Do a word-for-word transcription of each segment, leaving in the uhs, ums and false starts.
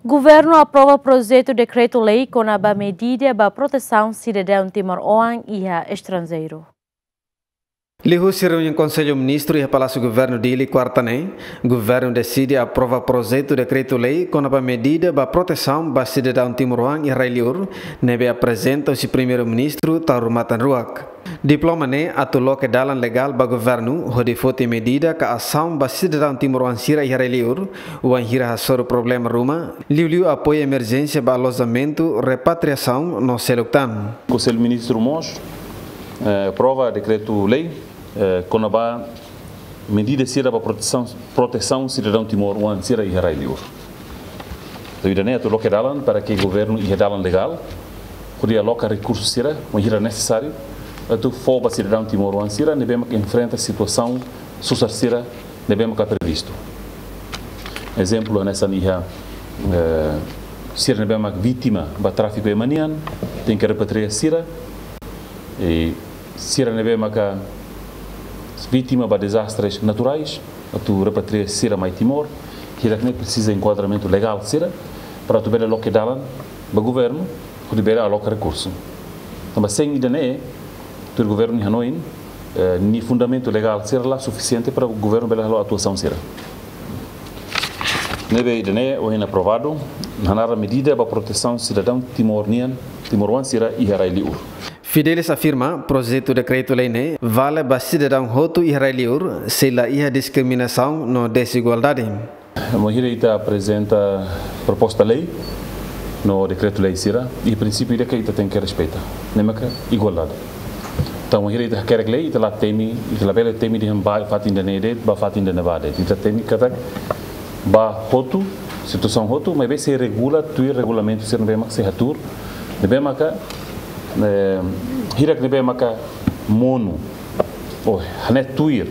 Governu aprova projetu dekretu-lei kona-ba medida ba protesaun sidadaun timoroan iha estranjeiru. Liuhusi reuniaun Konsellu Ministru iha Palásiu Governu Dili, kuarta ne'e, governu deside aprova projetu dekretu-lei kona-ba medida ba protesaun ba sidadaun timoroan iha rai-li'ur, ne'ebé aprezenta husi Primeiru-Ministru Taur Matan Ruak. Diploma ne'e atu loke dalan legál ba governu hodi foti medida ka asaun ba sidadaun timoroan sira iha rai-li'ur, wainhira hasoru problema ruma, liuliu apoiu emerjénsia ba alojamentu, repatriasaun no seluk tan. Konsellu Ministru mós, eh, aprova dekretu-lei, eh, kona-ba medida sira ba protesaun, protesaun sidadaun timoroan sira iha rai-li'ur. Entaun ida-ne'e atu loke dalan para ke governu iha dalan legál hodi aloka rekursu sira, wainhira nesesáriu, atu fó ba sidadaun timoroan sira ne'ebé mak enfrenta situasaun susar sira ne'ebé maka previstu. Ezemplu, hanesan iha, eh, sira ne'ebé mak vítima ba tráfiku ema nian, tenke repatria sira, i sira ne'ebé maka vítima ba dezastres naturais, atu repatria sira mai Timor, hirak-ne'e presiza enkuadramentu legál sira, para atu bele loke dalan ba governu, hodi bele aloka rekursu. Tanba sein ida-ne'e, tuir governu nia hanoin, eh, nia fundamentu legál sira la sufisiente para governu bele halo atuasaun sira. Ne'ebé ida-ne'e ohin aprovadu, hanaran medida ba protesaun sidadaun Timor nian, timoroan sira iha rai-li'ur. Fidelis afirma, projetu dekretu-lei ne'e vale ba sidadaun hotu iha rai-li'ur, sei la iha diskriminasaun no dezigualdade. Wainhira ita aprezenta proposta lei no dekretu-lei sira, i prinsípiu ida ke ita tenke respeita, ne'e maka igualdade. Entaun, wainhira ita hakerek lei, ita la temi, ita labele temi dehan ba fatin ida-ne'e de'it, ba fatin ida-ne'ebá de'it. Ita temi katak ba hotu, situasaun hotu, maibé sei regula tuir regulamentu sira ne'ebé mak sei hatuur, ne'ebé maka, eh, hirak ne'ebé maka monu, ou hanesan tuir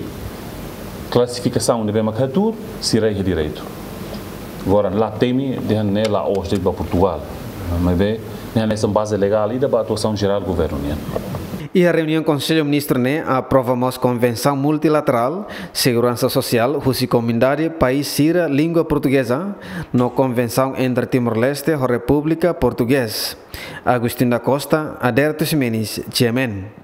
klasifikasaun ne'ebé mak hatuur, sira iha direitu. Agora, la temi dehan ne'e la'ós de'it ba Portugal. Maibé ne'e hanesan baze legál ida ba atuasaun jerál governu nian. Iha reuniaun Konsellu Ministru ne'e aprova mós konvensaun multilaterál seguransa sosiál husi Komunidade País sira Língua Portugeza no konvensaun entre Timor-Leste ho Repúblika Portugeza. Agostinho da Costa, Aderto Ximenes, G M N.